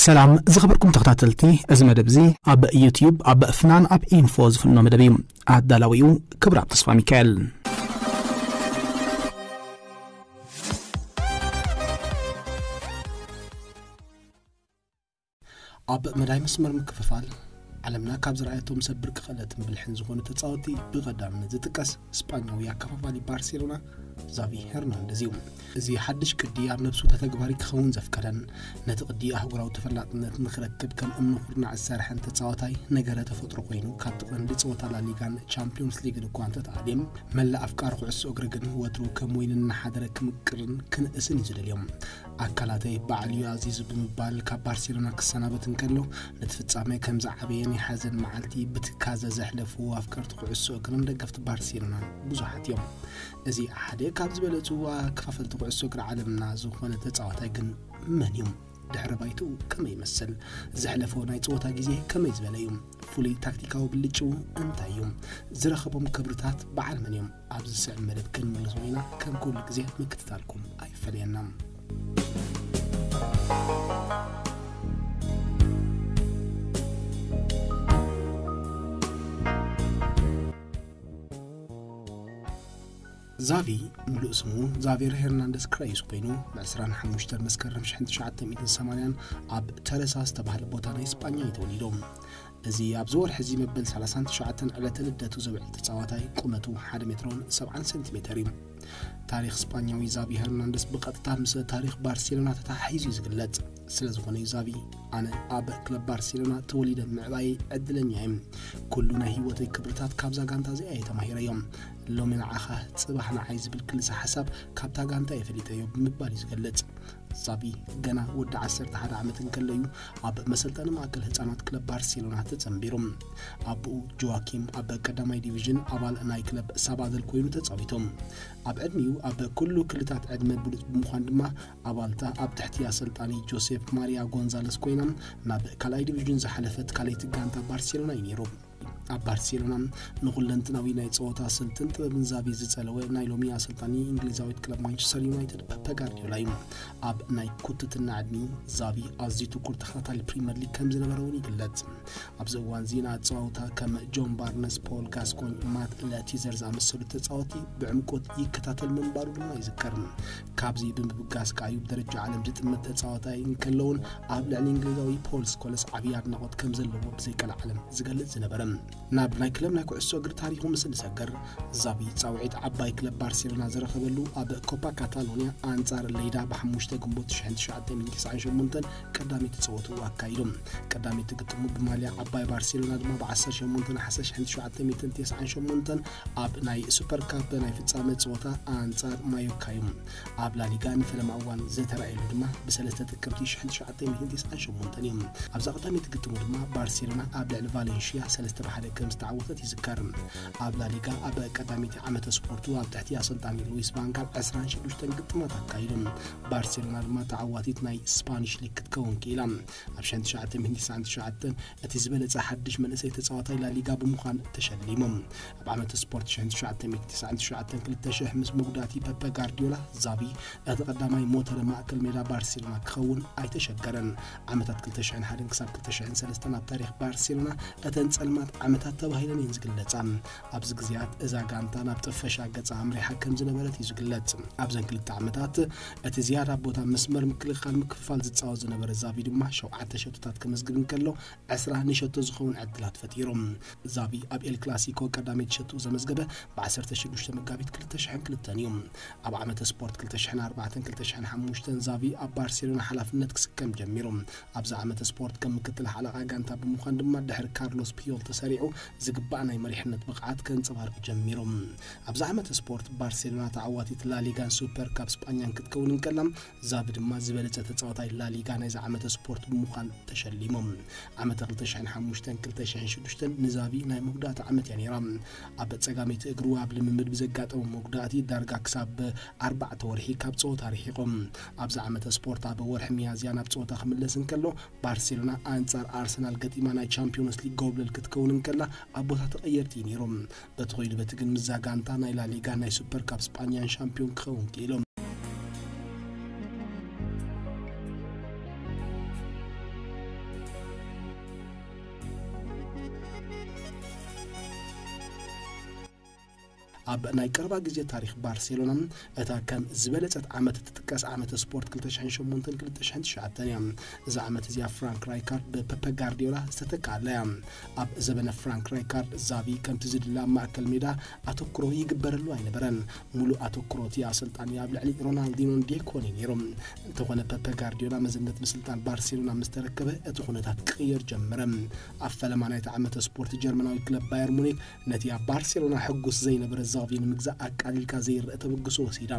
ሰላም ዝኸበርኩም ተኸታተልቲ፣ እዚ መደብ እዚ ኣብ ዩቲዩብ ኣብ ፍናን ኣብ ኢንፎ ዝፍኖ መደብ እዩ። ኣዳላዊኡ ክብራብ ተስፋ ሚካኤል። ኣብ መዳይ መስመር ምክፍፋል ዓለምና ካብ ዝረኣየቶም ሰብ ብርቂ ክእለትን ብልሕን ዝኾኑ ተጻወቲ ብቐዳምነት ዝጥቀስ ስጳኛዊ ኣከፋፋሊ ባርሴሎና ዛቪ ሄርናንደዝ እዩ። እዚ ሓድሽ ቅዲ ኣብ ነብሱ ተተግባሪ ክኸውን ዘፍቀደን ነቲ ቅዲ ኣህጉራዊ ተፈላጥነት ንኽረክብ ከም እምኒ ኩርናዕ ዝሰርሐን ተጻዋታይ ነገረ ተፈጥሮ ኮይኑ፣ ካብቲ ቀንዲ ጸወታ ላሊጋን ቻምፒዮንስ ሊግን እኳ እንተተኣልየ፣ መላእ ኣፍቃሪ ኩዕሶ እግሪ ግን ወትሩ ከም ወይኒ እናሓደረ ክምቅርን ክንእስን እዩ ዝደልዮም። ኣካላተይ ባዕሉ እዩ ኣዚዙ ብምባል ካብ ባርሴሎና ክሰናበት እንከሎ፣ ነቲ ፍጻመ ከም ዝዓበየ ናይ ሓዘን መዓልቲ ብትካዘ ዘሕለፉ ኣፍቀርቲ ኩዕሶ እግርን ደገፍቲ ባርሴሎናን ብዙሓት እዮም። እዚ ሓደ ካብ ዝበለጹ ኣከፋፈልቲ ኩዕሶ እግሪ ዓለምና ዝኾነ ተጻዋታይ ግን መን እዩ? ድሕረ ባይትኡ ከመይ ይመስል? ዘሕለፎ ናይ ጸወታ ግዜ ከመይ ዝበለ እዩ? ፍሉይ ታክቲካዊ ብልጭኡ እንታይ እዩ? ዝረኸቦም ክብርታት በዓል መን እዮም? ኣብዚ ዝስዕብ መደብ ክንምልሶ ኢና። ከም ኩሉ ግዜ ምክትታልኩም ኣይፈለየና። ዛቪ፣ ምሉእ ስሙ ዛቬር ሄርናንደስ ክራዩስ ኮይኑ፣ ብ ዕስራን ሓሙሽተን መስከረም ሽሕን ትሽዓተ ሚእትን ሰማንያን ኣብ ተረሳ ዝተባህለ ቦታ ናይ ስጳኛ እዩ ተወሊዱ። እዚ ኣብዚ ወርሒ እዚ መበል ሰላሳን ትሽዓተን ዕለተ ልደቱ ዘውዕል ተጻዋታይ ቁመቱ ሓደ ሜትሮን ሰብዓን ሰንቲሜተር እዩ። ታሪኽ ስጳኛዊ ዛቪ ሄርናንደስ ብቐጥታ ምስ ታሪኽ ባርሴሎና ተተሓሒዙ እዩ ዝግለጽ። ስለ ዝኾነ እዩ ዛቪ፣ ኣነ ኣብ ክለብ ባርሴሎና ተወሊደ ምዕባየይ ዕድለኛ እየ። ኩሉ ናይ ህይወተይ ክብርታት ካብዛ ጋንታ እዚኣ እየ ተማሂረዮ። ሎሚ ንዓኻ፣ ጽባሕ ንዓይ ዝብል ክልሰ ሓሳብ ካብታ ጋንታ እየ ፈሊጠዮ ብምባል እዩ ዝገልጽ። ዛቪ ገና ወዲ ዓሰርተ ሓደ ዓመት እንከሎ እዩ ኣብ መሰልጠኒ ማእከል ህጻናት ክለብ ባርሴሎና ተጸንቢሩ። ኣቦኡ ጆዋኪም ኣብ ቀዳማይ ዲቪዥን ኣባል ናይ ክለብ ሳባደል ኮይኑ ተጻዊቶም። ኣብ ዕድሚኡ ኣብ ኩሉ ክልታት ዕድመ ብሉጽ ብምዃን ድማ ኣባልታ ኣብ ትሕቲ ኣሰልጣኒ ጆሴፍ ማሪያ ጎንዛለስ ኮይና ናብ ካልኣይ ዲቪዥን ዝሓለፈት ካልኣይቲ ጋንታ ባርሴሎና እዩ ነይሩ። ኣብ ባርሴሎና ንኹለንትናዊ ናይ ጸወታ ስልትን ጥበብን ዛቪ ዝጸለወ ናይ ሎሚ ኣሰልጣኒ እንግሊዛዊት ክለብ ማንቸስተር ዩናይትድ ፐፐ ጋርዲዮላ እዩ። ኣብ ናይ ኩትትና ዕድሚኡ ዛቪ ኣዝዩ ትኩር ተኸታታሊ ፕሪምየር ሊግ ከም ዝነበረ እውን ይግለጽ። ኣብዚ እዋን እዚ ንኣጸዋውታ ከም ጆን ባርነስ፣ ፖል ጋስኮኝ፣ ማት ለቲዘር ዝኣመሰሉ ተጻወቲ ብዕምቆት ይከታተል ምንባሩ ድማ ይዝከር። ካብዚ ብምብጋስ ከኣ እዩ ብደረጃ ዓለም ዝጥመት ተጻዋታይ እንከሎ እውን ኣብ ልዕሊ እንግሊዛዊ ፖል ስኮለስ ዓብዪ ኣድናቖት ከም ዘለዎ ብዘይቀልዓለም ዝገልጽ ዝነበረ። ናብ ናይ ክለብ ናይ ኩዕሶ እግሪ ታሪኹ ምስ ንሰገር፣ ዛቪ ጻውዒት ዓባይ ክለብ ባርሴሎና ዝረኸበሉ ኣብ ኮፓ ካታሎኒያ ኣንጻር ሌይዳ ብሓሙሽተ ግንቦት ሽሕን ትሽዓተ ሚእትን ተስዓን ሸሞንተን ቀዳመይቲ ጸወትኡ ኣካይዱ። ቀዳመይቲ ግጥሙ ብማልያ ዓባይ ባርሴሎና ድማ ብ ዓሰርተ ሸሞንተ ነሓሰ ሽሕን ትሽዓተ ሚእትን ተስዓን ሸሞንተን ኣብ ናይ ሱፐር ካፕ ናይ ፍጻመ ጸወታ ኣንጻር ማዮርካ እዩ። ኣብ ላሊጋ ንፈለማ እዋን ዝተራእየሉ ድማ ብሰለስተ ጥቅምቲ ሽሕን ትሽዓተ ሚእትን ተስዓን ሸሞንተን እዩ። ኣብዛ ቀዳመይቲ ግጥሙ ድማ ባርሴሎና ኣብ ልዕሊ ቫሌንሽያ ሰለስተ ብ ሓደ ከም ዝተዓወተት ይዝከር። ኣብ ላሊጋ ኣብ ቀዳመይቲ ዓመተ ስፖርቱ ኣብ ትሕቲ ኣሰልጣኒ ሉዊስ ቫን ጋል ዕስራን ሽዱሽተን ግጥማት ኣካይዱ። ባርሴሎና ድማ ተዓዋቲት ናይ ስፓኒሽ ሊግ ክትከውን ክኢላ። ኣብ ሽሕን ትሽዓተ ሚእትን ተስዓን ትሽዓተን እቲ ዝበለጸ ሓድሽ መንእሰይ ተጻዋታይ ላሊጋ ብምዃን ተሸሊሙ። ኣብ ዓመተ ስፖርት ሽሕን ትሽዓተ ሚእትን ተስዓን ትሽዓተን ክልተ ሽሕ ምስ መጉዳእቲ ፐፐ ጋርዲዮላ፣ ዛቪ እቲ ቀዳማይ ሞተረ ማእከል ሜዳ ባርሴሎና ክኸውን ኣይተሸገረን። ዓመታት ክልተ ሽሕን ሓደን ክሳብ ክልተ ሽሕን ሰለስተን ኣብ ታሪኽ ባርሴሎና እተን ጸልማት ዓመታት ተባሂለን እየን ዝግለጻ። ኣብዚ ግዜያት እዛ ጋንታ ናብ ጥፈሻ ገጻ ኣምሪሓ ከም ዝነበረት እዩ ዝግለጽ። ኣብዘን ክልተ ዓመታት እቲ ዝያዳ ቦታ መስመር ምክልኻል ምክፍፋል ዝጻወት ዝነበረ ዛቪ ድማ ሸውዓተ ሸቶታት ከመዝግብ እንከሎ፣ ዕስራ ንሸቶ ዝኸውን ዕድላት ፈጢሩ። ዛቪ ኣብ ኤል ክላሲኮ ቀዳመይቲ ሸቶ ዘመዝገበ ብ ዓሰርተ ሽዱሽተ መጋቢት ክልተ ሽሕን ክልተን እዩ። ኣብ ዓመተ ስፖርት ክልተ ሽሕን ኣርባዕተን ክልተ ሽሕን ሓሙሽተን ዛቪ ኣብ ባርሴሎና ሓላፍነት ክስከም ጀሚሩ። ኣብዚ ዓመተ ስፖርት ከም ምክትል ሓለቓ ጋንታ ብምዃን ድማ ድሕሪ ካርሎስ ፒዮል ተሰሪዑ ዝግባእ ናይ መሪሕነት ብቕዓት ከንጸባርቕ ጀሚሩ። ኣብዚ ዓመተ ስፖርት ባርሴሎና ተዓዋቲት ላሊጋን ሱፐር ካፕ ስጳኛን ክትከውን እንከላ፣ ዛቪ ድማ ዝበለጸ ተጻዋታይ ላሊጋ ናይዚ ዓመተ ስፖርት ብምዃን ተሸሊሙ። ዓመተ ክልተ ሽሕን ሓሙሽተን ክልተ ሽሕን ሽዱሽተን ንዛቪ ናይ መጉዳእቲ ዓመት እያ ነይራ። ኣብ ጸጋመይቲ እግሩ ኣብ ልምምድ ብዘጋጠሞ መጉዳእቲ ዳርጋ ክሳብ ኣርባዕተ ወርሒ ካብ ጸወታ ርሒቑ። ኣብዚ ዓመተ ስፖርት ኣብ ወርሒ ሚያዝያ ናብ ጸወታ ክምለስ እንከሎ፣ ባርሴሎና ኣንጻር ኣርሰናል ገጢማ ናይ ቻምፒዮንስ ሊግ ጎብለል ክትከውን እንከላ፣ ኣብ ቦታ ተቐየርቲ እዩ ነይሩ። በቲ ኾይኑ በቲ ግን ምስዛ ጋንታ ናይ ላሊጋ ናይ ሱፐር ካፕ ስጳኛን ሻምፒዮን ክኸውን ክኢሉ። ኣብ ናይ ቀረባ ግዜ ታሪኽ ባርሴሎና፣ እታ ከም ዝበለጸት ዓመት እትጥቀስ ዓመተ ስፖርት ክልተ ሽሕን ሸሞንተን ክልተ ሽሕን ትሽዓተን እያ። እዛ ዓመት እዚኣ ፍራንክ ራይካርድ ብፐፐ ጋርዲዮላ ዝተተክኣላ እያ። ኣብ ዘበነ ፍራንክ ራይካርድ፣ ዛቪ ከምቲ ዝድለ ኣብ ማእከል ሜዳ ኣተኩሮ ይግበረሉ ኣይነበረን። ሙሉእ ኣተኩሮ እቲ ኣሰልጣኒ ኣብ ልዕሊ ሮናልዲኖን ዴኮን እዩ ነይሩ። እንተኾነ፣ ፐፐ ጋርዲዮላ መዝነት ምስልጣን ባርሴሎና ምስ ተረከበ፣ እቲ ኩነታት ክቕየር ጀመረ። ኣብ ፈለማ ናይቲ ዓመተ ስፖርት፣ ጀርመናዊ ክለብ ባየር ሙኒክ ነቲ ኣብ ባርሴሎና ሕጉስ ዘይነበረ ዛቪ ንምግዛእ ኣቃሊልካ ዘይረአ ተበግሶ ወሲዳ።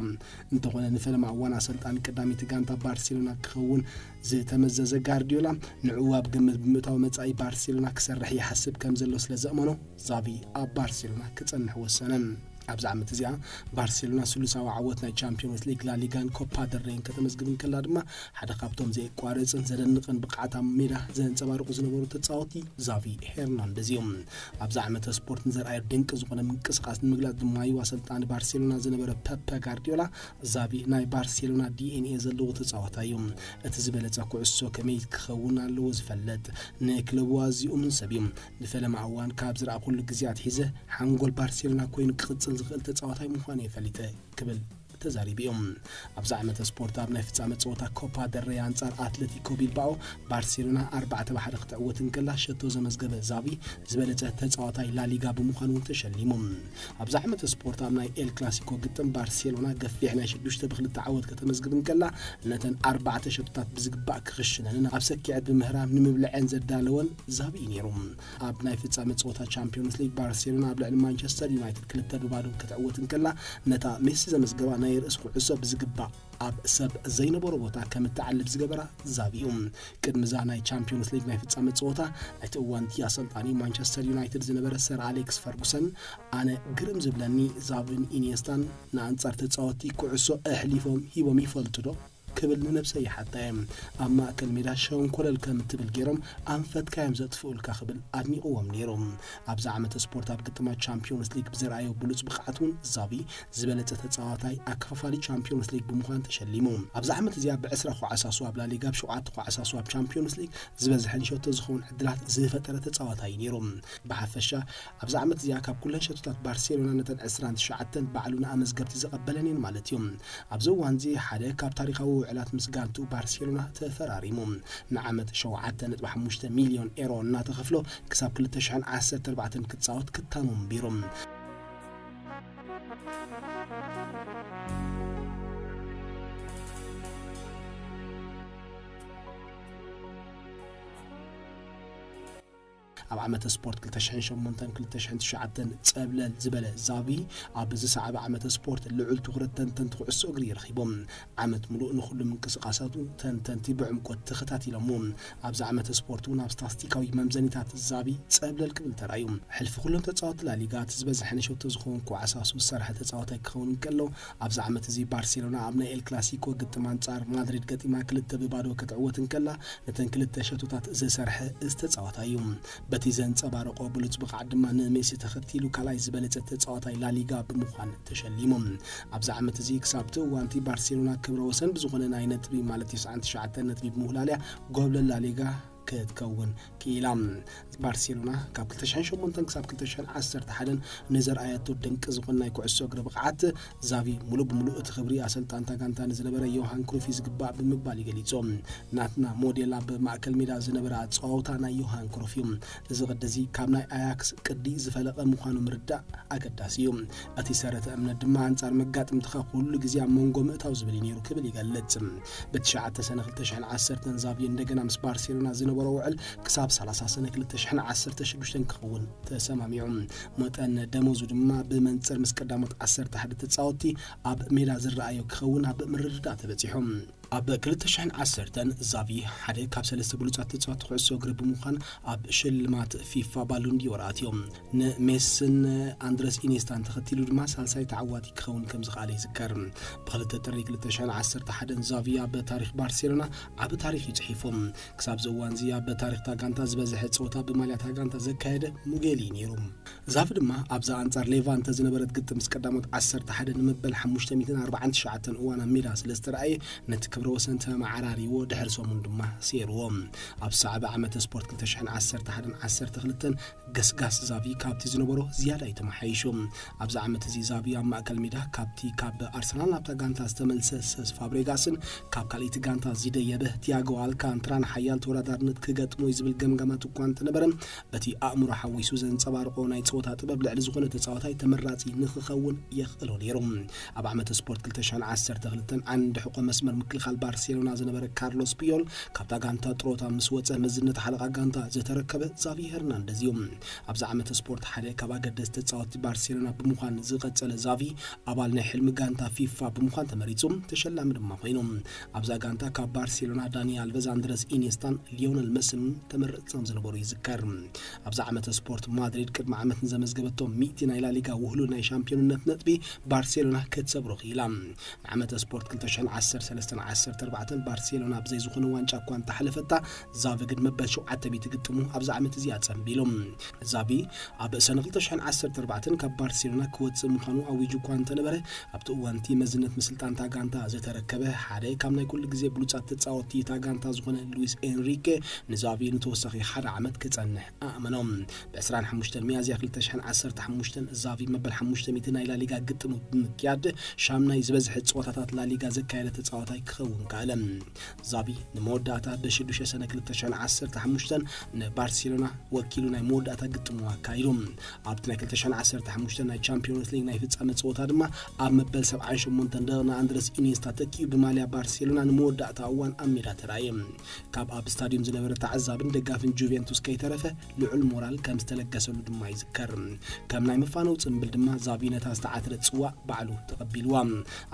እንተኾነ፣ ንፈለማ እዋን ኣሰልጣኒ ቀዳመይቲ ጋንታ ባርሴሎና ክኸውን ዝተመዘዘ ጋርዲዮላ፣ ንዕኡ ኣብ ግምት ብምእታው፣ መጻኢ ባርሴሎና ክሰርሕ ይሓስብ ከም ዘሎ ስለ ዘእመኖ፣ ዛቪ ኣብ ባርሴሎና ክጸንሕ ወሰነ። ኣብዚ ዓመት እዚኣ፣ ባርሴሎና ስሉሳዊ ዓወት ናይ ቻምፒዮንስ ሊግ፣ ላሊጋን ኮፓ ደል ሬይን ከተመዝግብ እንከላ ድማ፣ ሓደ ካብቶም ዘየቋርጽን ዘደንቕን ብቕዓት ኣብ ሜዳ ዘንጸባርቑ ዝነበሩ ተጻወቲ ዛቪ ሄርናንደዝ እዮም። ኣብዚ ዓመተ ስፖርት ንዘርኣዮ ድንቂ ዝኾነ ምንቅስቓስ ንምግላጽ ድማ እዩ ኣሰልጣኒ ባርሴሎና ዝነበረ ፐፐ ጋርዲዮላ፣ ዛቪ ናይ ባርሴሎና ዲ ኤን ኤ ዘለዎ ተጻዋታይ እዩ። እቲ ዝበለጸ ኩዕሶ ከመይ ክኸውን ኣለዎ ዝፈልጥ፣ ንክለቡ ኣዝዩ እሙን ሰብ እዩ። ንፈለማ እዋን ካብ ዝረኣኹሉ ግዜ ኣትሒዘ፣ ሓንጎል ባርሴሎና ኮይኑ ክቕጽል ዝኽእል ተጻዋታይ ምዃኑ እየ ፈሊጠ ክብል ተዛሪቡ እዩ። ኣብዚ ዓመተ ስፖርት ኣብ ናይ ፍጻመ ጸወታ ኮፓ ደል ሬይ ኣንጻር ኣትሌቲኮ ቢልባኦ፣ ባርሴሎና ኣርባዕተ ብ ሓደ ክትዕወት እንከላ፣ ሸቶ ዘመዝገበ ዛቪ ዝበለጸ ተጻዋታይ ላሊጋ ብምዃን እውን ተሸሊሙ። ኣብዚ ዓመተ ስፖርት ኣብ ናይ ኤል ክላሲኮ ግጥም፣ ባርሴሎና ገፊሕ ናይ ሽዱሽተ ብ ክልተ ዓወት ከተመዝግብ እንከላ፣ ነተን ኣርባዕተ ሸቶታት ብዝግባእ ክኽሽነንን ኣብ ሰኪዐት ብምህራም ንምብልዐን ዘዳለወን ዛቪ እዩ ነይሩ። ኣብ ናይ ፍጻመ ጸወታ ቻምፒዮንስ ሊግ፣ ባርሴሎና ኣብ ልዕሊ ማንቸስተር ዩናይትድ ክልተ ብ ባዶ ክትዕወት እንከላ፣ ነታ ሜሲ ዘመዝገባ ናይ ርእሲ ኩዕሶ ብዝግባእ ኣብ ሰብ ዘይነበሮ ቦታ ከም እትዓልብ ዝገበራ ዛቪ እዩ። ቅድሚ እዛ ናይ ቻምፒዮንስ ሊግ ናይ ፍጻመ ጸወታ፣ ናይቲ እዋንቲ ኣሰልጣኒ ማንቸስተር ዩናይትድ ዝነበረ ሰር ኣሌክስ ፈርጉሰን፣ "ኣነ ግርም ዝብለኒ፣ ዛቪን ኢኒየስታን ንኣንጻር ተጻወትቲ ኩዕሶ ኣሕሊፎም ሂቦም ይፈልጡ ዶ?" ክብል ንነብሰይ ይሓታ እየ። ኣብ ማእከል ሜዳ ሸንኮለል ከም እትብል ገይሮም ኣንፈትካ እዮም ዘጥፍኡልካ ክብል ኣድኒቕዎም ነይሩ። ኣብዚ ዓመተ ስፖርት ኣብ ግጥማት ቻምፒዮንስ ሊግ ብዘርኣዮ ብሉጽ ብቕዓት እውን ዛቪ ዝበለጸ ተጻዋታይ ኣከፋፋሊ ቻምፒዮንስ ሊግ ብምዃን ተሸሊሙ። ኣብዚ ዓመት እዚኣ ብዕስራ ኳዕሳሱ ኣብ ላሊጋ፣ ብሸውዓተ ኳዕሳሱ ኣብ ቻምፒዮንስ ሊግ ዝበዝሐን ሸቶ ዝኸውን ዕድላት ዝፈጠረ ተጻዋታይ እዩ ነይሩ። ብሓፈሻ፣ ኣብዚ ዓመት እዚኣ ካብ ኩለን ሸቶታት ባርሴሎና ነተን ዕስራን ትሽዓተን ባዕሉ ንኣመዝገብቲ ዘቐበለን እየን ማለት እዩ። ኣብዚ እዋን እዚ ሓደ ካብ ታሪኻዊ ውዕላት ምስ ጋንቱ ባርሴሎና ተፈራሪሙ። ንዓመት ሸውዓተ ነጥቢ ሓሙሽተ ሚልዮን ኤሮ እናተኸፍሎ ክሳብ ክልተ ሽሕን ዓሰርተ ኣርባዕተን ክጻወት ክታሙ ኣንቢሩ። ኣብ ዓመተ ስፖርት ክልተ ሽሕን ሸሞንተን ክልተ ሽሕን ትሽዓተን ጸብለል ዝበለ ዛቪ፣ ኣብ ዝሰዓበ ዓመተ ስፖርት ልዑል ትኹረት ተንተንቲ ኩዕሶ እግሪ ረኺቦም። ዓመት ምሉእ ንኹሉ ምንቅስቓሳቱ ተንተንቲ ብዕምቆት ተኸታቲሎሞ። ኣብዚ ዓመተ ስፖርት እውን ኣብ ስታስቲካዊ መምዘኒታት ዛቪ ጸብለል ክብል ተራእዩ። ሕልፊ ኩሎም ተጻወቲ ላሊጋ፣ እቲ ዝበዝሐ ንሸቶ ዝኸውን ኳዕሳሱ ዝሰርሐ ተጻዋታይ ክኸውን እንከሎ፣ ኣብዚ ዓመት እዚ ባርሴሎና ኣብ ናይ ኤል ክላሲኮ ግጥም ኣንጻር ማድሪድ ገጢማ ክልተ ብ ባዶ ክትዕወት እንከላ፣ ነተን ክልተ ሸቶታት ዝሰርሐ እዚ ተጻዋታይ እዩ። በቲ ዘንጸባረቆ ብሉጽ ብቕዓት ድማ ንሜሲ ተኸቲሉ ካልኣይ ዝበለጸ ተጻዋታይ ላሊጋ ብምዃን ተሸሊሙ። ኣብዚ ዓመት እዚ ክሳብ እቲ እዋንቲ ባርሴሎና ክብረ ወሰን ብዝኾነ ናይ ነጥቢ፣ ማለት ተስዓን ትሽዓተን ነጥቢ ብምውላልያ፣ ጎብለል ላሊጋ ክትከውን ክኢላ። ባርሴሎና ካብ ክልተ ሽሕን ሸሞንተን ክሳብ ክልተ ሽሕን ዓሰርተ ሓደን ንዘርኣያቶ ድንቂ ዝኾነ ናይ ኩዕሶ እግሪ ብቕዓት፣ ዛቪ ሙሉእ ብሙሉእ እቲ ክብሪ ኣሰልጣንታ ጋንታ ንዝነበረ ዮሃን ክሩፍ እዩ ዝግባእ ብምባል እዩ ገሊጹ። ናትና ሞዴል ኣብ ማእከል ሜዳ ዝነበረ ኣጸዋውታ ናይ ዮሃን ክሩፍ እዩ። እዚ ቅዲ እዚ ካብ ናይ ኣያክስ ቅዲ ዝፈለቐ ምዃኑ ምርዳእ ኣገዳሲ እዩ። እቲ ሰረተ እምነት ድማ ኣንጻር መጋጥምትኻ ኩሉ ግዜ ኣብ መንጎ ምእታው ዝብል እዩ ነይሩ ክብል ይገልጽ። ብትሽዓተ ሰነ ክልተ ሽሕን ዓሰርተን ዛቪ እንደገና ምስ ባርሴሎና ዝነበሮ ውዕል ክሳብ ሰላሳ ሰነ ክልተ ሽሕን ዓሰርተ ሽዱሽተን ክኸውን ተሰማሚዑ። መጠን ደሞዙ ድማ ብመንጽር ምስ ቀዳሞት ዓሰርተ ሓደ ተጻወትቲ ኣብ ሜዳ ዝረኣዮ ክኸውን ኣብ ምርድዳእ ተበጺሑ። ኣብ ክልተ ሽሕን ዓሰርተን ዛቪ ሓደ ካብ ሰለስተ ብሉጻት ተጻወትቲ ኩዕሶ እግሪ ብምዃን ኣብ ሽልማት ፊፋ ባሎን ዲዮር ኣትዮ። ንሜስን ኣንድረስ ኢኔስታን ተኸቲሉ ድማ ሳልሳይ ተዓዋቲ ክኸውን ከም ዝኸኣለ ይዝከር። ብክልተ ጥሪ ክልተ ሽሕን ዓሰርተ ሓደን ዛቪ ኣብ ታሪኽ ባርሴሎና ዓቢ ታሪኽ እዩ ጽሒፉ። ክሳብ እዚ እዋን እዚ ኣብ ታሪኽታ ጋንታ ዝበዝሐ ጸወታ ብማልያታ ጋንታ ዘካየደ ሙጌል እዩ ነይሩ። ዛቪ ድማ ኣብዛ ኣንጻር ሌቫንተ ዝነበረት ግጥም ምስ ቀዳሞት ዓሰርተ ሓደ ንመበል ሓሙሽተ ሚእትን ኣርባዓን ትሽዓተን እዋን ኣብ ሜዳ ስለ ዝተረኣየ፣ ነቲ ክብረ ወሰን ተመዓራሪዎ ድሕሪ ሰሙን ድማ ሰይርዎ። ኣብ ሳዕቢ ዓመተ ስፖርት ክልተ ሽሕን ዓሰርተ ሓደን ዓሰርተ ክልተን ገስጋስ ዛቪ ካብቲ ዝነበሮ ዝያዳ እዩ ተመሓይሹ። ኣብዚ ዓመት እዚ ዛቪ ኣብ ማእከል ሜዳ ካብቲ ካብ ኣርሰናል ናብታ ጋንታ ዝተመልሰ ሰስ ፋብሬጋስን ካብ ካልኣይቲ ጋንታ ዝደየበ ቲያጎ ኣልካንትራን ሓያል ተወዳዳርነት ክገጥሞ እዩ ዝብል ገምጋማት እኳ እንተነበረ፣ እቲ ኣእምሮ ሓዊሱ ዘንጸባርቆ ናይ ጸወታ ጥበብ ልዕሊ ዝኾነ ተጻዋታይ ተመራጺ ንኽኸውን የኽእሎ ነይሩ። ኣብ ዓመተ ስፖርት ክልተ ሽሕን ዓሰርተ ክልተን ዓንዲ ሕቆ መስመር ምክልኻል ባርሴሎና ዝነበረ ካርሎስ ፒዮል ካብታ ጋንታ ጥሮታ ምስ ወጸ፣ መዝነት ሓለቓ ጋንታ ዝተረከበ ዛቪ ሄርናንደዝ እዩ። ኣብዚ ዓመተ ስፖርት ሓደ ካብ ኣገደስቲ ተጻወትቲ ባርሴሎና ብምዃን ዝቐጸለ ዛቪ፣ ኣባል ናይ ሕልሚ ጋንታ ፊፋ ብምዃን ተመሪጹ፣ ተሸላሚ ድማ ኮይኑ። ኣብዛ ጋንታ ካብ ባርሴሎና ዳኒ ኣልቨዝ፣ ኣንድረስ ኢኔስታን ሊዮነል መስን ተመረጽቲ ከም ዝነበሩ ይዝከር። ኣብዛ ዓመተ ስፖርት ማድሪድ ቅድሚ ዓመት ንዘመዝገበቶ ሚእቲ ናይ ላሊጋ ውህሉል ናይ ሻምፒዮንነት ነጥቢ ባርሴሎና ክትሰብሮ ክኢላ። ንዓመተ ስፖርት ክልተ ሽሕን ዓሰርተ ሰለስተን ዓሰርተ ኣርባዕተን ባርሴሎና ብዘይ ዝኾነ ዋንጫ እኳ እንተሓለፈታ፣ ዛቪ ግን መበል ሸውዓተ ሚእቲ ግጥሙ ኣብዚ ዓመት እዚ ኣጸንቢሉ። ዛቪ ኣብ ሰነ ክልተ ሽሕን ዓሰርተ ኣርባዕተን ካብ ባርሴሎና ክወጽእ ምዃኑ ኣዊጁ እኳ እንተነበረ፣ ኣብቲ እዋን እቲ መዝነት ምስልጣን እታ ጋንታ ዝተረከበ ሓደ ካብ ናይ ኩሉ ግዜ ብሉጻት ተጻወትቲ እታ ጋንታ ዝኾነ ሉዊስ ኤንሪኬ ንዛቪ ንተወሳኺ ሓደ ዓመት ክጸንሕ ኣእመኖም። ብ ዕስራን ሓሙሽተን ሚያዝያ ክልተ ሽሕን ዓሰርተ ሓሙሽተን ዛቪ መበል ሓሙሽተ ሚእቲ ናይ ላሊጋ ግጥሙ ብምክያድ ሻምናይ ዝበዝሐ ጸወታታት ላሊጋ ዘካየደ ተጻዋታይ ክኸውን ከኣለ። ዛቪ ንመወዳእታ ብሽዱሽተ ሰነ ክልተ ሽሕን ዓሰርተ ሓሙሽተን ንባርሴሎና ወኪሉ ናይ መወዳእታ ግጥሙ ኣካይዱ። ኣብቲ ናይ ክልተ ሽሕን ዓሰርተ ሓሙሽተን ናይ ቻምፒዮንስ ሊግ ናይ ፍጻመ ጸወታ ድማ ኣብ መበል ሰብዓን ሸሞንተን ደቂቕ ንኣንድረስ ኢኒየስታ ተኪኡ ብማልያ ባርሴሎና ንመወዳእታ እዋን ኣብ ሜዳ ተራእየ። ካብ ኣብ ስታዲየም ዝነበረ ተዓዛብን ደጋፍን ጁቬንቱስ ከይተረፈ ልዑል ሞራል ከም ዝተለገሰሉ ድማ ይዝከር። ከም ናይ መፋነው ጽምብል ድማ ዛቪ ነታ ዝተዓትረት ጽዋእ ባዕሉ ተቐቢልዋ።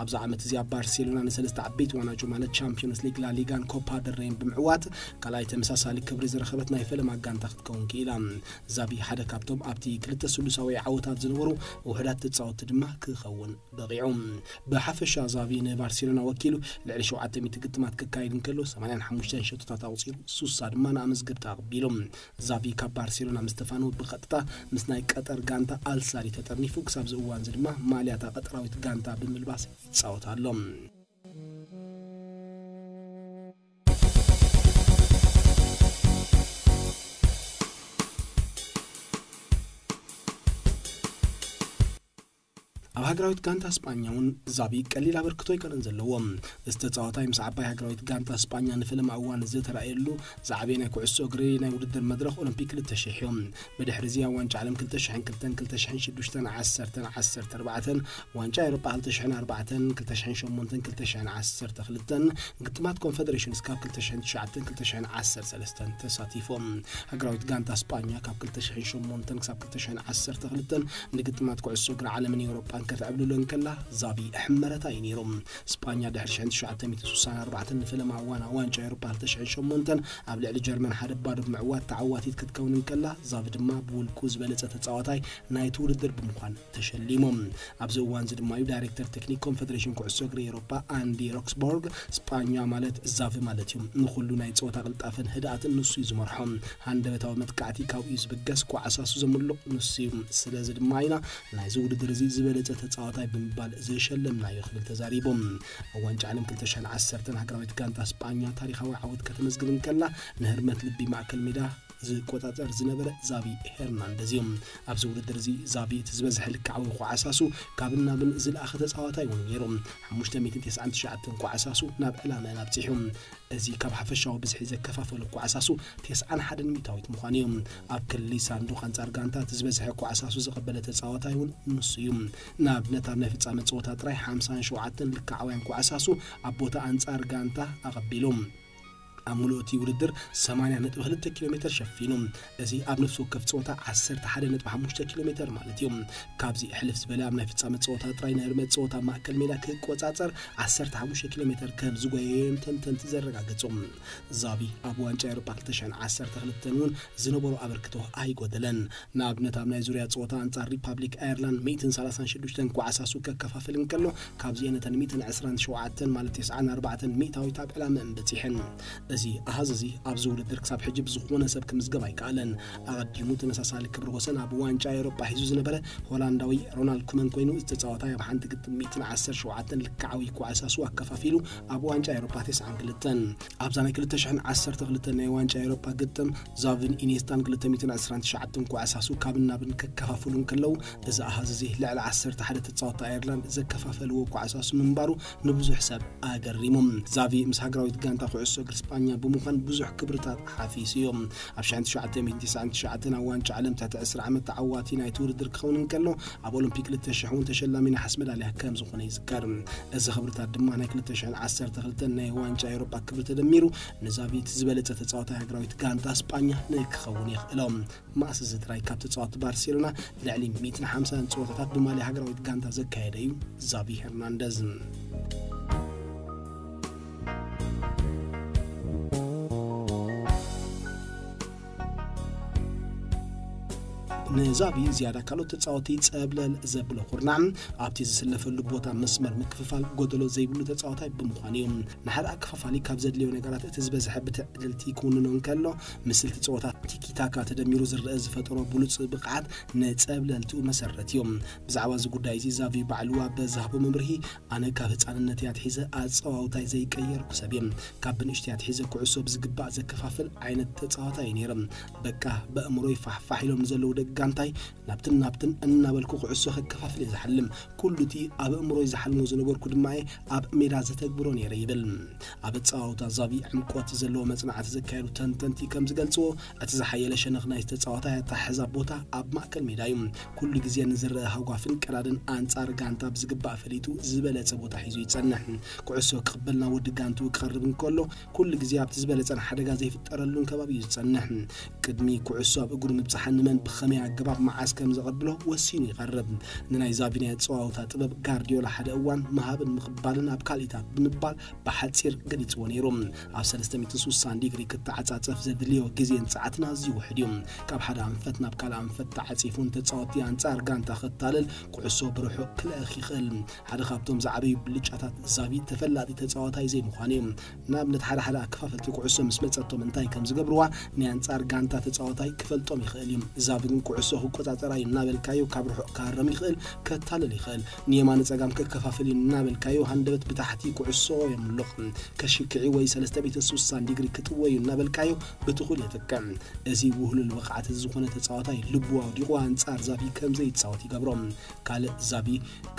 ኣብዚ ዓመት እዚ ኣብ ባርሴሎና ንሰለስተ ዓበይቲ ዋናጩ ማለት ቻምፒዮንስ ሊግ፣ ላሊጋን ኮፓ ደል ሬይን ብምዕዋት ካልኣይ ተመሳሳሊ ክብሪ ዝረኸበት ናይ ፈለማ ጋንታ ክትከውን ክኢላ። ዛቪ ሓደ ካብቶም ኣብቲ ክልተ ስሉሳዊ ዓወታት ዝነበሩ ውሑዳት ተጻወትቲ ድማ ክኸውን በቒዑ። ብሓፈሻ ዛቪ ንባርሴሎና ወኪሉ ልዕሊ ሸውዓተ ሚእቲ ግጥማት ክካይድ እንከሎ፣ ሰማንያን ሓሙሽተን ሸቶታት ኣቑጺሩ፣ ሱሳ ድማ ንኣመዝገብቲ ኣቕቢሉ። ዛቪ ካብ ባርሴሎና ምስ ተፋነወ ብቐጥታ ምስ ናይ ቀጠር ጋንታ ኣልሳዲ ተጠርኒፉ፣ ክሳብ እዚ እዋን እዚ ድማ ማልያ እታ ቀጠራዊት ጋንታ ብምልባስ ይጻወት ኣሎ። ኣብ ሃገራዊት ጋንታ ስጳኛ እውን ዛቪ ቀሊል ኣበርክቶ ኣይኮነን ዘለዎ። እዚ ተጻዋታይ ምስ ዓባይ ሃገራዊት ጋንታ ስጳኛ ንፈለማ እዋን ዝተራእየሉ ዝዓበየ ናይ ኩዕሶ እግሪ ናይ ውድድር መድረኽ ኦሎምፒክ ክልተ ሽሕ እዩ። ብድሕሪ እዚ ኣብ ዋንጫ ዓለም ክልተ ሽሕን ክልተን፣ ክልተ ሽሕን ሽዱሽተን፣ ዓሰርተን ዓሰርተ ኣርባዕተን፣ ዋንጫ ኤውሮጳ ክልተ ሽሕን ኣርባዕተን፣ ክልተ ሽሕን ሸሞንተን፣ ክልተ ሽሕን ዓሰርተ ክልተን፣ ግጥማት ኮንፈደሬሽንስ ካብ ክልተ ሽሕን ትሽዓተን፣ ክልተ ሽሕን ዓሰርተ ሰለስተን ተሳቲፎም። ሃገራዊት ጋንታ ስጳኛ ካብ ክልተ ሽሕን ሸሞንተን ክሳብ ክልተ ሽሕን ዓሰርተ ክልተን ንግጥማት ኩዕሶ እግሪ ዓለምን ኤውሮጳን ከተዕብልሎ እንከላ፣ ዛቪ ሕመረታ እዩ ነይሩ። ስጳኛ ድሕሪ ሽሕን ትሽዓተ ሚእትን ስሳን ኣርባዕተን ንፈለማ እዋን ኣብ ዋንጫ ኤውሮጳ ክልተ ሽሕን ሸሞንተን ኣብ ልዕሊ ጀርመን ሓደ ባዶ ብምዕዋት ተዓዋቲት ክትከውን እንከላ፣ ዛቪ ድማ ብውልቁ ዝበለጸ ተጻዋታይ ናይቲ ውድድር ብምዃን ተሸሊሙ። ኣብዚ እዋን እዚ ድማ እዩ ዳይሬክተር ቴክኒክ ኮንፈደሬሽን ኩዕሶ እግሪ ኤውሮጳ ኣንዲ ሮክስቦርግ፣ ስጳኛ ማለት ዛቪ ማለት እዩ። ንኹሉ ናይ ጸወታ ቅልጣፈን ህድኣትን ንሱ እዩ ዝመርሖ። ሃንደበታዊ መጥቃዕቲ ካብኡ እዩ ዝብገስ፣ ኳዕሳሱ ዘምልቕ ንሱ እዩ። ስለዚ ድማ ኢና ናይዚ ውድድር እዚ ዝበለጸ ተጻዋታይ ብምባል ዝሸለምናዮ ክብል ተዛሪቡ። ኣብ ዋንጫ ዓለም ክልተ ሽሕን ዓሰርተን ሃገራዊት ጋንታ ስጳኛ ታሪኻዊ ዓወት ከተመዝግብ እንከላ፣ ንህርመት ልቢ ማእከል ሜዳ ዝቆጻጸር ዝነበረ ዛቪ ሄርናንደዝ እዩ። ኣብዚ ውድድር እዚ ዛቪ እቲ ዝበዝሐ ልክዓዊ ኳዕሳሱ ካብን ናብን ዝለኣኸ ተጻዋታይ እውን ነይሩ። ሓሙሽተ ሚእትን ተስዓን ትሽዓተን ኳዕሳሱ ናብ ዕላመአን ኣብጺሑ። እዚ ካብ ሓፈሻዊ ብዝሒ ዘከፋፈሎ ኳዕሳሱ ተስዓን ሓደን ሚእታዊት ምዃኑ እዩ። ኣብ ክሊ ሳንዱቕ ኣንጻር ጋንታ እቲ ዝበዝሐ ኳዕሳሱ ዝቐበለ ተጻዋታይ እውን ንሱ እዩ። ንኣብነት፣ ኣብ ናይ ፍጻመ ጸወታ ጥራይ ሓምሳን ሸውዓተን ልክዓውያን ኳዕሳሱ ኣብ ቦታ ኣንጻር ጋንታ ኣቐቢሉ። ኣብ ምሉእ እቲ ውድድር ሰማንያ ነጥቢ ክልተ ኪሎ ሜተር ሸፊኑ። እዚ ኣብ ነፍሲ ወከፍ ጸወታ ዓሰርተ ሓደ ነጥቢ ሓሙሽተ ኪሎ ሜተር ማለት እዩ። ካብዚ ሕልፍ ዝበለ ኣብ ናይ ፍጻመ ጸወታ ጥራይ ንህርመት ጸወታ ማእከል ሜዳ ክቆጻጸር ዓሰርተ ሓሙሽተ ኪሎ ሜተር ከም ዝጎየየ እዮም ተንተንቲ ዘረጋገጹ። ዛቪ ኣብ ዋንጫ ኤውሮጳ ክልተ ሽሕን ዓሰርተ ክልተን እውን ዝነበሮ ኣበርክቶ ኣይጎደለን። ንኣብነት፣ ኣብ ናይ ዙርያ ጸወታ ኣንጻር ሪፓብሊክ ኣየርላንድ ሚእትን ሰላሳን ሽዱሽተን ኳዕሳሱ ከከፋፍል እንከሎ፣ ካብዚኤን እተን ሚእትን ዕስራን ሸውዓተን ማለት ተስዓን ኣርባዕተን ሚእታዊት ኣብ ዕላመአን በጺሐን። እዚ ኣሃዝ እዚ ኣብዚ ውድድር ክሳብ ሕጂ ብዝኾነ ሰብ ክምዝገብ ኣይከኣለን። ኣቐዲሙ ተመሳሳሊ ክብሪ ወሰን ኣብ ዋንጫ ኤውሮጳ ሒዙ ዝነበረ ሆላንዳዊ ሮናልድ ኩመን ኮይኑ፣ እዚ ተጻዋታይ ኣብ ሓንቲ ግጥም ሚእትን ዓሰርተ ሸውዓተን ልክዓዊ ኩዕሳሱ ኣከፋፊሉ ኣብ ዋንጫ ኤውሮጳ ተስዓን ክልተን። ኣብዛ ናይ ክልተ ሽሕን ዓሰርተ ክልተን ናይ ዋንጫ ኤውሮጳ ግጥም ዛቪን ኢኔስታን ክልተ ሚእትን ዕስራን ትሽዓተን ኩዕሳሱ ካብን ናብን ከከፋፍሉ እንከለዉ፣ እዚ ኣሃዝ እዚ ልዕሊ ዓሰርተ ሓደ ተጻወትቲ ኣየርላንድ ዘከፋፈልዎ ኩዕሳሱ ምንባሩ ንብዙሕ ሰብ ኣገሪሙ። ዛቪ ምስ ሃገራዊት ጋንታ ኩዕሶ እግሪ ስጳኛ ብምዃን ብዙሕ ክብርታት ሓፊሱ እዩ። ኣብ ሽሕን ትሽዓተ ሚእትን ተስዓን ትሽዓተን ኣብ ዋንጫ ዓለም ትሕቲ ዕስራ ዓመት ተዓዋቲ ናይቲ ውድድር ክኸውን እንከሎ፣ ኣብ ኦሎምፒክ ክልተ ሽሕ እውን ተሸላሚ ነሓስ መዳልያ ከም ዝኾነ ይዝከር። እዚ ክብርታት ድማ ናይ ክልተ ሽሕን ዓሰርተ ክልተን ናይ ዋንጫ ኤውሮጳ ክብሪ ተደሚሩ ንዛቪ እቲ ዝበለጸ ተጻዋታይ ሃገራዊት ጋንታ ስጳኛ ንክኸውን የኽእሎ። መኣስ እዚ ጥራይ ካብ ተጻወትቲ ባርሴሎና ልዕሊ ሚእትን ሓምሳን ጸወታታት ብማልያ ሃገራዊት ጋንታ ዘካየደ እዩ ዛቪ ሄርናንደዝ። ንዛቪ ዝያዳ ካልኦት ተጻወቲ ጸብለል ዘብሎ ኩርናዕ ኣብቲ ዝስለፈሉ ቦታ መስመር ምክፍፋል ጎደሎ ዘይብሉ ተጻዋታይ ብምዃኑ እዩ። ንሓደ ኣከፋፋሊ ካብ ዘድልዮ ነገራት እቲ ዝበዝሐ ብትዕድልቲ ክውንኖ እንከሎ፣ ምስልቲ ጸወታ ቲኪታካ ተደሚሩ ዝረአ ዝፈጠሮ ብሉጽ ብቕዓት ንጸብለልትኡ መሰረት እዩ። ብዛዕባ እዚ ጉዳይ እዚ ዛቪ ባዕሉ ኣብ ዝሃቦ መምርሂ፣ ኣነ ካብ ህጻንነተይ ኣትሒዘ ኣጸዋውታይ ዘይቀየርኩ ሰብ እየ። ካብ ብንእሽተይ ኣትሒዘ ኩዕሶ ብዝግባእ ዘከፋፍል ዓይነት ተጻዋታይ እየ ነይረ። በቃ ብኣእምሮይ ፋሕፋሕ ኢሎም ንዘለዉ ደቂ ጋንታይ ናብትን ናብትን እናበልኩ ኩዕሶ ከከፋፍል እየ ዝሓልም። ኩሉ እቲ ኣብ ኣእምሮይ ዝሓልሞ ዝነበርኩ ድማ እየ ኣብ ሜዳ ዘተግብሮ ነይረ ይብል። ኣብ ኣጸዋውታ ዛቪ ዕምቆት ዘለዎ መጽናዕቲ ዘካየዱ ተንተንቲ ከም ዝገልጽዎ፣ እቲ ዝሓየለ ሸነኽ ናይ ተጻዋታይ ኣተሓሕዛ ቦታ ኣብ ማእከል ሜዳ እዩ። ኩሉ ግዜ ንዝረአ ሃጓፍን ቀዳድን ኣንጻር ጋንታ ብዝግባእ ፈሊጡ ዝበለጸ ቦታ ሒዙ ይጸንሕ። ኩዕሶ ክቕበል ናብ ወዲ ጋንትኡ ክቐርብ እንከሎ፣ ኩሉ ግዜ ኣብቲ ዝበለጸን ሓደጋ ዘይፍጠረሉን ከባቢ እዩ ዝጸንሕ። ቅድሚ ኩዕሶ ኣብ እግሩ ምብጻሓ ንመን ብኸመይ ኣገባብ መዓስ ከም ዘቐብሎ ወሲኑ ይቐርብ። ንናይ ዛቪ ናይ ኣጸዋውታ ጥበብ ጋርዲዮላ ሓደ እዋን ምሃብን ምቕባልን ኣብ ካልኢታት ብምባል ብሓጺር ገሊጽዎ ነይሩ። ኣብ ሰለስተ ሚእትን ስሳን ዲግሪ ክተዓጻጸፍ ዘድልዮ ግዜን ጸዓትን ኣዝዩ ውሑድ እዩ። ካብ ሓደ ኣንፈት ናብ ካልእ ኣንፈት ተዓጺፉ ንተጻወትቲ ኣንጻር ጋንታ ከታልል፣ ኩዕሶ ብርሑቕ ክልእኽ ይኽእል። ሓደ ካብቶም ዝዓበዩ ብልጫታት ዛቪ ተፈላጢ ተጻዋታይ ዘይምዃኑ እዩ። ንኣብነት ሓደ ሓደ ኣከፋፈልቲ ኩዕሶ ምስ መጸቶም እንታይ ከም ዝገብርዋ ናይ ኣንጻር ጋንታ ተጻዋታይ ክፈልጦም ይኽእል እዩ። ዛቪ ግን ኩዕሶ ክቆጻጸራ እዩ እናበልካዮ ካብ ርሑቕ ክሃረም ይኽእል፣ ከታልል ይኽእል። ንየማነ ጸጋም ከከፋፍል እዩ እናበልካዮ ሃንደበት ብታሕቲ ኩዕሶ የምልቕ። ከሽክዒ ወይ ሰለስተ ሚእትን ስሳን ዲግሪ ክጥወ እዩ እናበልካዮ ብትኹል የጥቅዕ። እዚ ውህሉል ብቕዓት እዚ ዝኾነ ተጻዋታይ ልቡ ኣውዲቑ ኣንጻር ዛቪ ከም ዘይጻወት ይገብሮ። ካልእ ዛቪ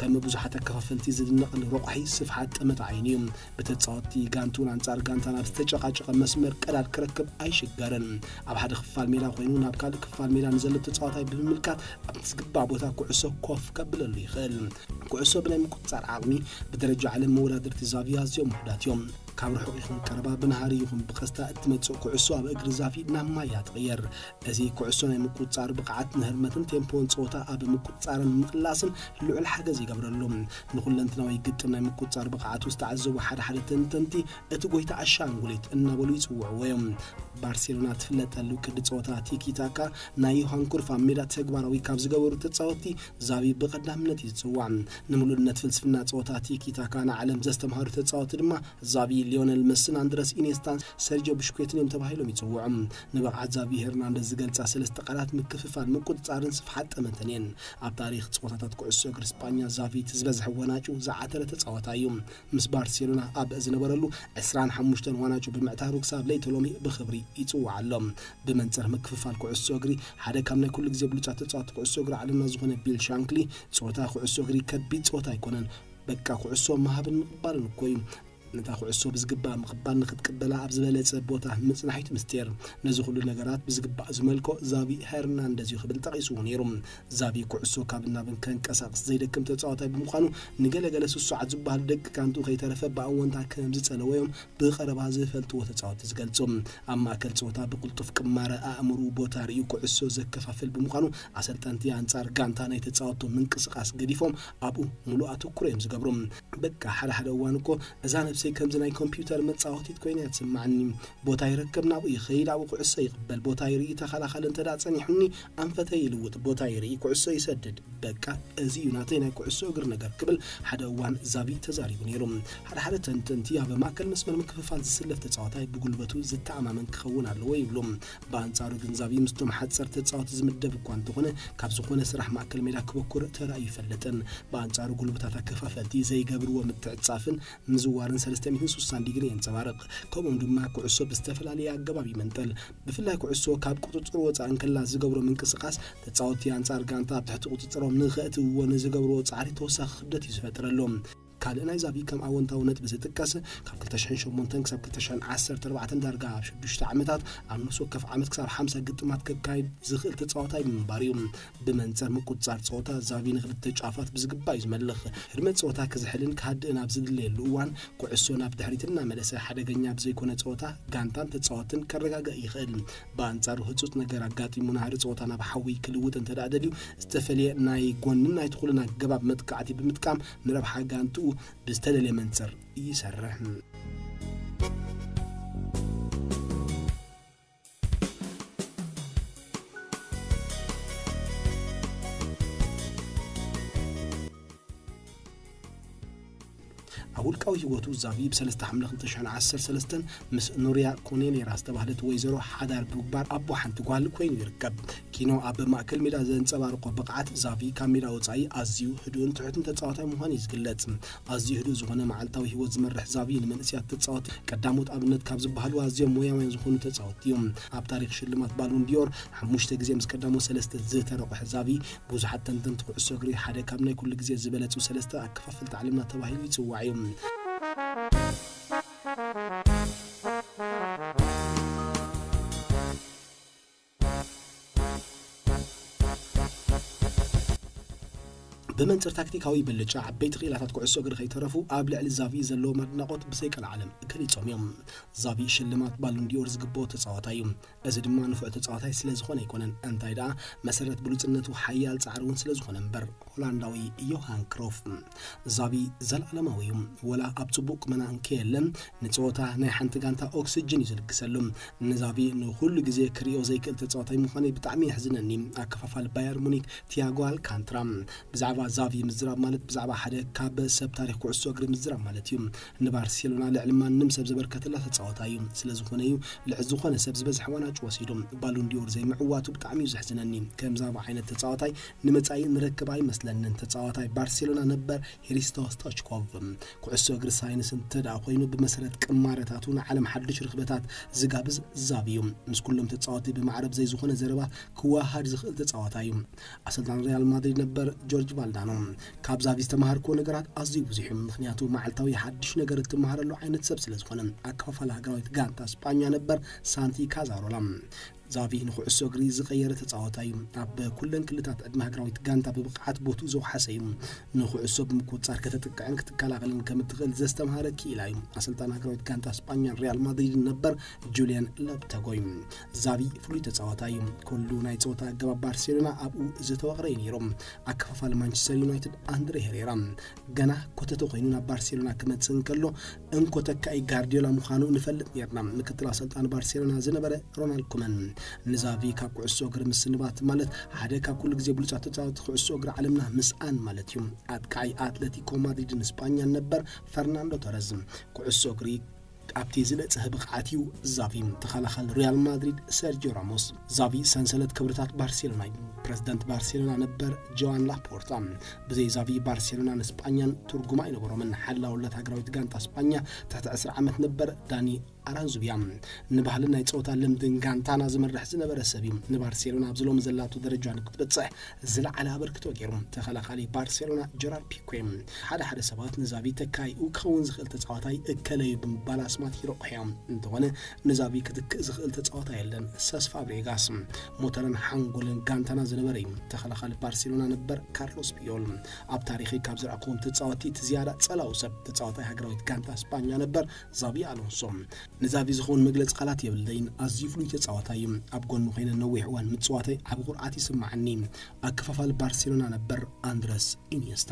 ከም ብዙሓት ኣከፋፈልቲ ዝድነቐሉ ረቋሒ ስፍሓት ጠመተ ዓይኑ እዩ። ብተጻወትቲ ጋንቱን ኣንጻር ጋንታን ኣብ ዝተጨቃጨቐ መስመር ቀዳድ ክረክብ ኣይሽገርን። ኣብ ሓደ ክፋል ሜዳ ኮይኑ ናብ ካልእ ክፋል ሜዳ ንዘሎ ተጻዋታይ ብምምልካት ኣብ ዝግባእ ቦታ ኩዕሶ ኮፍ ከብለሉ ይኽእል። ኩዕሶ ብናይ ምቁጽጻር ዓቕሚ ብደረጃ ዓለም መወዳድርቲ ዛቪ ኣዝዮም ውሑዳት እዮም። ካብ ርሑቕ ይኹን ቀረባ፣ ብናህሪ ይኹን ብቐስታ እትመጽእ ኩዕሶ ኣብ እግሪ ዛቪ ናብ ማያ ትቕየር። እዚ ኩዕሶ ናይ ምቁጽጻር ብቕዓት ንህርመትን ቴምፖን ጸወታ ኣብ ምቁጽጻርን ምቕላስን ልዑል ሓገዝ ይገብረሉ። ንኹለንትናዊ ግጥም ናይ ምቁጽጻር ብቕዓቱ ዝተዓዘቡ ሓደ ሓደ ተንተንቲ እቲ ጎይታ ኣሻንጉሊት እናበሉ ይጽውዕዎ እዮም። ባርሴሎና ትፍለጠሉ ቅዲ ጸወታ ቲኪ ታካ ናይ ዮሃን ክሩፍ ኣብ ሜዳ ተግባራዊ ካብ ዝገበሩ ተጻወትቲ ዛቪ ብቐዳምነት እዩ ዝጽዋዕ። ንምሉእነት ፍልስፍና ጸወታ ቲኪ ታካ ንዓለም ዘስተምሃሩ ተጻወትቲ ድማ ዛቪ፣ ሊዮነል መስን ኣንድረስ ኢኔስታን ሰርጆ ብሽኩዌትን እዮም ተባሂሎም ይጽውዑ። ንብቕዓት ዛቪ ሄርናንደዝ ዝገልጻ ሰለስተ ቃላት ምክፍፋል፣ ምቁጽጻርን ስፍሓት ጠመተን እየን። ኣብ ታሪኽ ጸወታታት ኩዕሶ እግሪ ስጳኛ ዛቪ እቲ ዝበዝሐ ወናጩ ዝዓተረ ተጻዋታይ እዩ። ምስ ባርሴሎና ኣብ ዝነበረሉ ዕስራን ሓሙሽተን ዋናጩ ብምዕታሩ ክሳብ ለይቲ ሎሚ ብኽብሪ ይጽዋዕ ኣሎ። ብመንጽር ምክፍፋል ኩዕሶ እግሪ ሓደ ካብ ናይ ኩሉ ግዜ ብሉጻት ተጻወትቲ ኩዕሶ እግሪ ዓለምና ዝኾነ ቢል ሻንክሊ፣ ጸወታ ኩዕሶ እግሪ ከቢድ ጸወታ ኣይኮነን፣ በቃ ኩዕሶ ምሃብን ምቕባልን እኮ እዩ። ነታ ኩዕሶ ብዝግባእ ምቕባል ንክትቅበላ ኣብ ዝበለጸ ቦታ ምጽናሕ እዩ እቲ ምስጢር። ነዚ ኩሉ ነገራት ብዝግባእ ዝመልኮ ዛቪ ሄርናንደዝ እዩ ክብል ጠቒስዎ ነይሩ። ዛቪ ኩዕሶ ካብን ናብን ከንቀሳቕስ ዘይደክም ተጻዋታይ ብምዃኑ፣ ንገለገለ ስሱዓት ዝበሃሉ ደቂ ጋንትኡ ከይተረፈ ብኣወንታ ከም ዝጸለወ እዮም ብቐረባ ዝፈልጥዎ ተጻወትቲ ዝገልጹ። ኣብ ማእከል ጸወታ ብቕልጡፍ ቅማረ ኣእምርኡ ቦታ ርእዩ ኩዕሶ ዘከፋፍል ብምዃኑ፣ ኣሰልጠንቲ ኣንጻር ጋንታ ናይ ተጻወትቶ ምንቅስቓስ ገዲፎም ኣብኡ ሙሉእ ኣተኩሮ እዮም ዝገብሩ። በቃ ሓደ ሓደ እዋን እኮ እዛ ነብሲ ከምዚ ናይ ኮምፒውተር መጻወቲት ኮይና እያ ትስምዓኒ። ቦታ ይረክብ፣ ናብኡ ይኸይድ፣ ኣብኡ ኩዕሶ ይቕበል፣ ቦታ ይርኢ፣ ተኸላኻሊ እንተ ደኣ ጸኒሑኒ ኣንፈተይ ይልውጥ፣ ቦታ ይርኢ፣ ኩዕሶ ይሰድድ። በቃ፣ እዚ እዩ ናተይ ናይ ኩዕሶ እግሪ ነገር ክብል ሓደ እዋን ዛቪ ተዛሪቡ ነይሩ። ሓደ ሓደ ተንተንቲ ኣብ ማእከል መስመር ምክፍፋል ዝስለፍ ተጻዋታይ ብጉልበቱ ዝተኣማመን ክኸውን ኣለዎ ይብሉ። ብኣንጻሩ ግን ዛቪ ምስቶም ሓጸር ተጻወቲ ዝምደብ እኳ እንተኾነ ካብ ዝኾነ ስራሕ ማእከል ሜዳ ክበኩር ተራእዩ ይፈልጥን። ብኣንጻሩ ጉልበታት ኣከፋፈልቲ ዘይገብርዎ ምትዕጻፍን ምዝዋርን ሰለስተ ሚእትን ስሳን ዲግሪ የንጸባርቕ። ከምኡም ድማ ኩዕሶ ብዝተፈላለየ ኣገባብ ይመንጠል። ብፍላይ ኩዕሶ ካብ ቁጽጽር ወጻእ እንከላ ዝገብሮ ምንቅስቓስ ተጻወቲ ኣንጻር ጋንታ ኣብ ትሕቲ ቁጽጽሮም ንኸእትውዎ ንዝገብርዎ ጻዕሪ ተወሳኺ ክብደት እዩ ዝፈጥረሎም። ካልእ ናይ ዛቪ ከም ኣወንታዊ ነጥቢ ዝጥቀስ ካብ ክልተ ሽሕን ሸሞንተን ክሳብ ክልተ ሽሕን ዓሰርተ ኣርባዕተን ዳርጋ ኣብ ሽዱሽተ ዓመታት ኣብ ነፍሲ ወከፍ ዓመት ክሳብ ሓምሳ ግጥማት ከካይድ ዝኽእል ተጻዋታይ ብምንባር እዩ። ብመንጽር ምቁጽጻር ጸወታ ዛቪ ንኽልተ ጫፋት ብዝግባእ እዩ ዝመልኽ። ህድመት ጸወታ ክዝሕልን ክሃድእን ኣብ ዝድለየሉ እዋን ኩዕሶ ናብ ድሕሪት እናመለሰ ሓደገኛ ብዘይኮነ ጸወታ ጋንታን ተጻወትን ከረጋግእ ይኽእል። ብኣንጻሩ ህጹጽ ነገር ኣጋጢሙ ናህሪ ጸወታ ናብ ሓዊ ክልውጥ እንተ ደኣ ደልዩ ዝተፈልየ ናይ ጎንን ናይ ትኹልን ኣገባብ መጥቃዕቲ ብምጥቃም ንረብሓ ጋንትኡ ብዝተደልየ መንጽር ይሰርሕ። ኣብ ውልቃዊ ህይወቱ ዛቪ ብ ሰለስተ ሓምለ ክልተ ሽሕን ዓሰርተ ሰለስተን ምስ ኑሪያ ኮኔሌራ ዝተባህለት ወይዘሮ ሓዳር ብምግባር ኣቦ ሓንቲ ጓል ኮይኑ ይርከብ። ኪኖ ኣብ ማእከል ሜዳ ዘንጸባርቆ ብቕዓት ዛቪ ካብ ሜዳ ወጻኢ ኣዝዩ ህዱእን ትሑትን ተጻዋታይ ምዃኑ እዩ ዝግለጽ። ኣዝዩ ህዱእ ዝኾነ መዓልታዊ ህይወት ዝመርሕ ዛቪ ንመንእሰያት ተጻወቲ ቀዳሞት ኣብነት ካብ ዝበሃሉ ኣዝዮም ሞያውያን ዝኾኑ ተጻወቲ እዮም። ኣብ ታሪኽ ሽልማት ባሎን ዲዮር ሓሙሽተ ግዜ ምስ ቀዳሞት ሰለስተ ዝተረቑሐ ዛቪ ብዙሓት ተንተንቲ ኩዕሶ እግሪ ሓደ ካብ ናይ ኩሉ ግዜ ዝበለጹ ሰለስተ ኣከፋፈልቲ ዓለምና ተባሂሉ ይጽዋዕ እዩ። ብመንጽር ታክቲካዊ ብልጫ ዓበይቲ ክኢላታት ኩዕሶ እግሪ ከይተረፉ ኣብ ልዕሊ ዛቪ ዘለዎም ኣድናቖት ብዘይቀልዓለም ገሊጾም እዮም። ዛቪ ሽልማት ባሎን ዲዮር ዝግብኦ ተጻዋታይ እዩ። እዚ ድማ ንፉዕ ተጻዋታይ ስለ ዝኾነ ኣይኮነን፣ እንታይ ደኣ መሰረት ብሉጽነቱ ሓያል ጻዕሪ እውን ስለ ዝኾነ እምበር። ሆላንዳዊ ዮሃን ክሮፍ። ዛቪ ዘላለማዊ እዩ። ወላ ኣብ ጽቡቕ ቁመና እንከየለን ንጸወታ ናይ ሓንቲ ጋንታ ኦክስጅን እዩ ዝልግሰሉ። ንዛቪ ንኹሉ ግዜ ክርእዮ ዘይክእል ተጻዋታይ ምዃነይ ብጣዕሚ የሕዝነኒ። ኣከፋፋል ባየር ሙኒክ ቲያጎ ኣልካንትራ ብዛዕባ ዛቪ ምዝራብ ማለት ብዛዕባ ሓደ ካብ ሰብ ታሪኽ ኩዕሶ እግሪ ምዝራብ ማለት እዩ። ንባርሴሎና ልዕሊ ማንም ሰብ ዘበርከተላ ተጻዋታይ እዩ። ስለ ዝኾነ እዩ ልዕሊ ዝኾነ ሰብ ዝበዝሐ ዋንጫ ወሲዱ። ባሎን ዲዮር ዘይምዕዋቱ ብጣዕሚ እዩ ዘሕዝነኒ። ከም ዛቪ ዓይነት ተጻዋታይ ንመጻኢ ንረክብ ኣይመስለንን። ተጻዋታይ ባርሴሎና ነበር ሂሪስቶ ስቶችኮቭ። ኩዕሶ እግሪ ሳይንስ እንተ ደኣ ኮይኑ ብመሰረት ቅማረታቱ ንዓለም ሓድሽ ርኽበታት ዝጋብዝ ዛቪ እዩ። ምስ ኩሎም ተጻወቲ ብማዕረብ ዘይዝኾነ ዘረባ ክወሃድ ዝኽእል ተጻዋታይ እዩ። ኣሰልጣን ሪያል ማድሪድ ነበር ጆርጅ ቫልዳኖ። ካብ ዛቪ ዝተማሃርኩዎ ነገራት ኣዝዩ ብዙሕ እዩ፣ ምኽንያቱ መዓልታዊ ሓድሽ ነገር እትመሃረሉ ዓይነት ሰብ ስለ ዝኾነ። ኣከፋፋሊ ሃገራዊት ጋንታ ስጳኛ ነበር ሳንቲ ካዛሮላ። ዛቪ ንኩዕሶ እግሪ ዝቐየረ ተጻዋታይ እዩ። ኣብ ኩለን ክልታት ዕድመ ሃገራዊት ጋንታ ብብቕዓት ቦትኡ ዘውሓሰ እዩ። ንኩዕሶ ብምቁጽጻር ከተጥቅዕን ክትከላኸልን ከም እትኽእል ዘስተምሃረ ክኢላ እዩ። ኣሰልጣን ሃገራዊት ጋንታ ስጳኛን ሪያል ማድሪድን ነበር ጁልያን ሎፕተጎይ። ዛቪ ፍሉይ ተጻዋታይ እዩ። ኩሉ ናይ ጸወታ ኣገባብ ባርሴሎና ኣብኡ ዝተወቕረ እዩ ነይሩ። ኣከፋፋሊ ማንቸስተር ዩናይትድ ኣንድሬ ሄሬራ ገና ኮተተ ኮይኑ ናብ ባርሴሎና ክመጽእ እንከሎ እንኮ ተካኢ ጋርዲዮላ ምዃኑ ንፈልጥ ነርና። ምክትል ኣሰልጣኒ ባርሴሎና ዝነበረ ሮናልድ ኩመን ንዛቪ ካብ ኩዕሶ እግሪ ምስንባት ማለት ሓደ ካብ ኩሉ ግዜ ብሉጻት ተጻወቲ ኩዕሶ እግሪ ዓለምና ምስኣን ማለት እዩ። ኣጥቃዓይ ኣትለቲኮ ማድሪድን ስጳኛን ነበር ፈርናንዶ ቶረዝ ኩዕሶ እግሪ ኣብቲ ዝነጽሀ ብቕዓት እዩ ዛቪ። ተኸላኻሊ ሪያል ማድሪድ ሰርጂዮ ራሞስ። ዛቪ ሰንሰለት ክብርታት ባርሴሎና እዩ። ፕረዚደንት ባርሴሎና ነበር ጆዋን ላፖርታ። ብዘይ ዛቪ ባርሴሎና ንስጳኛን ትርጉም ኣይነበሮምን። ሓላውለት ሃገራዊት ጋንታ ስጳኛ ትሕቲ ዕስራ ዓመት ነበር ዳኒ ኣራንዙብያ። ንባህልን ናይ ጸወታ ልምድን ጋንታና ዝመርሕ ዝነበረ ሰብ እዩ። ንባርሴሎና ኣብዚ ሎሚ ዘላቶ ደረጃ ንክትበጽሕ ዝለዓለ ኣበርክቶ ገይሩ። ተኸላኻሊ ባርሴሎና ጀራርድ ፒኬ። ሓደ ሓደ ሰባት ንዛቪ ተካይኡ ክኸውን ዝኽእል ተጻዋታይ እከለ እዩ ብምባል ኣስማት ይረቑሑ እዮም። እንተኾነ ንዛቪ ክትክእ ዝኽእል ተጻዋታይ የለን። ሰስ ፋብሬጋስ ሞተርን ሓንጎልን ጋንታና ዝነበረ እዩ። ተኸላኻሊ ባርሴሎና ነበር ካርሎስ ፒዮል። ኣብ ታሪኸይ ካብ ዝረኣኹዎም ተጻወቲ እቲ ዝያዳ ጸላዊ ሰብ ተጻዋታይ ሃገራዊት ጋንታ ስጳኛ ነበር ዛቪ ኣሎንሶ። ንዛቪ ዝኸውን መግለጺ ቃላት የብለይን። ኣዝዩ ፍሉይ ተጻዋታይ እዩ። ኣብ ጎኑ ኮይነ ነዊሕ እዋን ምጽዋተይ ዓቢ ኩርዓት ይስምዓኒ። ኣከፋፋሊ ባርሴሎና ነበር ኣንድረስ ኢኒየስታ።